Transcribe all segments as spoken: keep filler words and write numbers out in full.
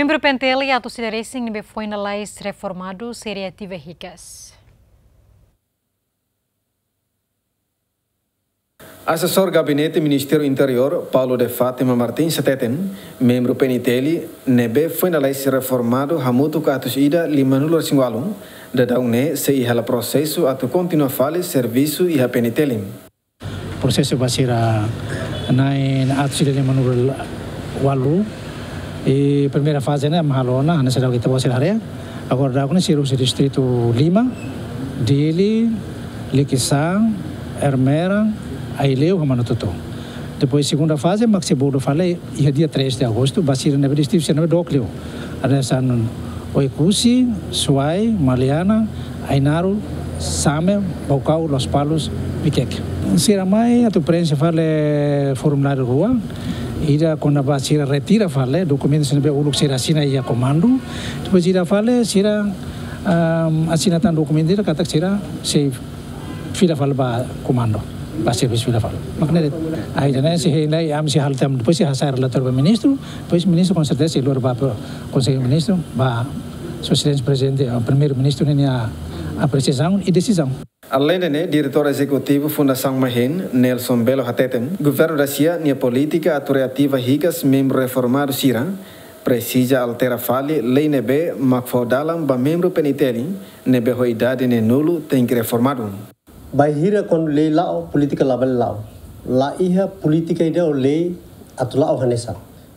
Membru P N T L atus ida resin ne'ebé foin lalais reformadu sei reativa hikas. Asesór Gabinete Ministériu Interiór, Paulo de Fátima Martins, hateten, membru P N T L ne'ebé foin lalais reformadu hamutuk atus ida limanulu resin ualu, daudaun ne'e sei iha hela prosesu atu kontinua fali servisu iha P N T L. Prosesu ba sira na'in atus ida limanulu ualu. I primeira faze ne'e mak halo ona, hanesan daudaun ita-boot sira haree. Agora daudaun ne'e sira husi distritu lima, Dili, Likisá, Ermera, Aileu, ho Manatuto. Depois segunda faze mak sei bolu fali iha dia três de agosto, ba sira ne'ebé distritu sira ne'ebé dook liu. Hanesan Oekusi, Suai, Maliana, Ainaro, Same, Baucau, Lospalos, Viqueque. Sira mai atu preenxe fali formuláriu rua, ida kona-ba sira retira fali dokumentu sira ne'ebé uluk sira asina iha komandu. Depois ida fali sira, ahm, asina tan dokumentu ida katak sira sei fila fali ba komandu, ba servisu fila fali. Mak ne'e de'it. Ida-ne'e sei hein lai, ami sei halo tan, depois sei hasai relatóriu ba ministru, depois ministru konserteza sei lori ba pro-, Konsellu Ministru, ba Sua Exelénsia Prezidente, eh, Primeiru-Ministru ninia apresiasaun i desizaun. Aleinde ne'e, Diretór Ezekutivu Fundasaun Mahen, Nelson Belo hateten, governu Rúsia nia polítika atu reativa hikas membru reformadu sira, presiza altera fali lei ne'ebé mak fó dalan ba membru P N T L ne'ebé ho idade neenulu tenke reformadu. Bainhira kuandu lei la'o, polítika labele la'o. La iha polítika ida ou lei atu la'o hanesan.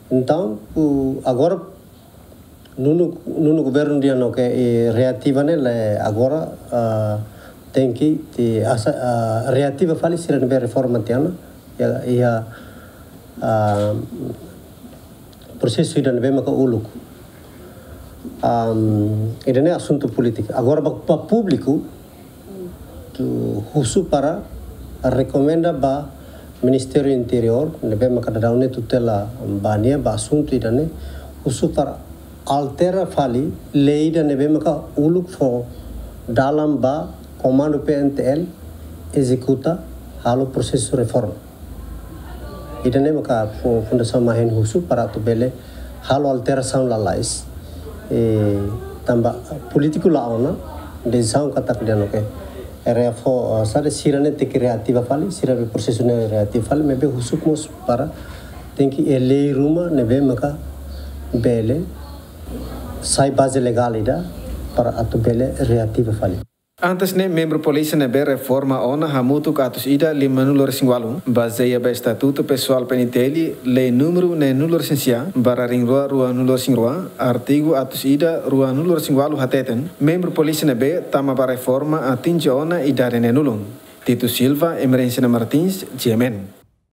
Entaun, o, agora, nonu, nonu governu dehan katak, eh, reativa ne'e, la agora, ah, tenke, te, asa, ah, reativa fali sira ne'ebé reforma tiha ona, iha, iha, ah, prosesu ida ne'ebé maka uluk. Am, ida-ne'e asuntu polítika. Agora, ba, ba públiku, atu husu para rekomenda ba Ministériu Interiór, ne'ebé maka daudaun ne'e tutela ba nia, ba asuntu ida-ne'e, husu para altera fali lei ida ne'ebé maka uluk fó dalan ba komandu P N T L ezekuta halo prosesu reforma. Ida-ne'e maka fu-, Fundasaun Mahen husu para atu bele halo alterasaun lalais. Eh, tanba polítiku la'o ona, desizaun katak dehan katak, eh, reforma, eh, saida, sira ne'e tenke reativa fali, sira be prosesu ne'e reativa fali, maibé husu mós para tenke iha lei ruma ne'ebé maka bele sai baze legál ida para atu bele reativa fali. Antes ne'e, membru polísia ne'ebé reforma ona hamutuk atus ida limanulu resin ualu, bazeia ba Estatutu Pesoál P N T L, lei númeru neenulu resin sia, barra rihun rua ruanulu resin rua, artigu atus ida ruanulu resin ualu hateten, membru polísia ne'ebé tama ba reforma atinje ona idade neenulu. Tito Silva, Emerenciana Martins, G M N.